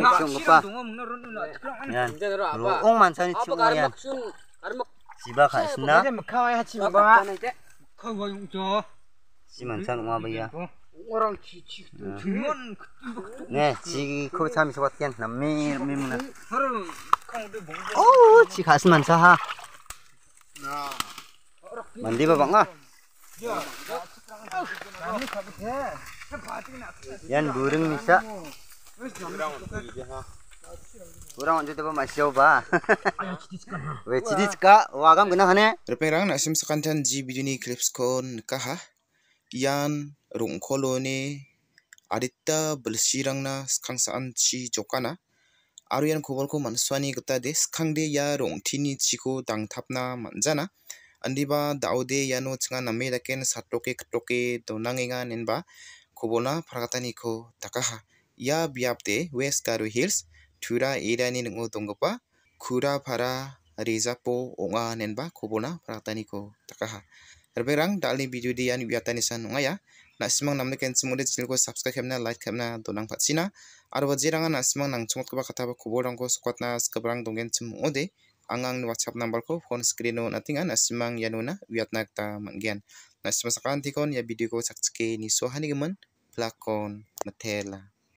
lupa. Yan, ruong man sa nitsyo mo yan. Siba ka isna. Si man sa nunga ba ya. Ne, si ko sami sukat yan. Nami muna. Oh, si khas man sa ha. Mandi ba bang ah? Yan burung bisa. Burung itu apa masih coba. Weh cidis ka, wagam kena hane. Reperang nak sim sekantan ji video ni clips kon kah? Yan rung koloni adita bersirang na skangsaan ci jokana. Aru yan kubur ko manswani kita des skang de ya rung tini ciko dang tapna manjana. Andiba daude yano cenga name daken satoke ketoke donangenga nenba kubona parakatani ko takaha. Ya biapte West Garo Hills tura irani nengo donggopa kura para rezapo onga nenba kubona parakatani ko takaha. Reperang dali video di yan biatani san ngaya. Nak simang namne ken semude channel ko subscribe kemna like kemna donang patsina. Arwa jirangan nak simang nang chungot ko ba kataba kuborang ko sukatna skabrang dongen ode. Angang WhatsApp number ko phone screen no natingan asimang yanuna wiatna ta manggian. Nasimang sakan tikon ya video ko sakske ni so hanigemen plakon matela.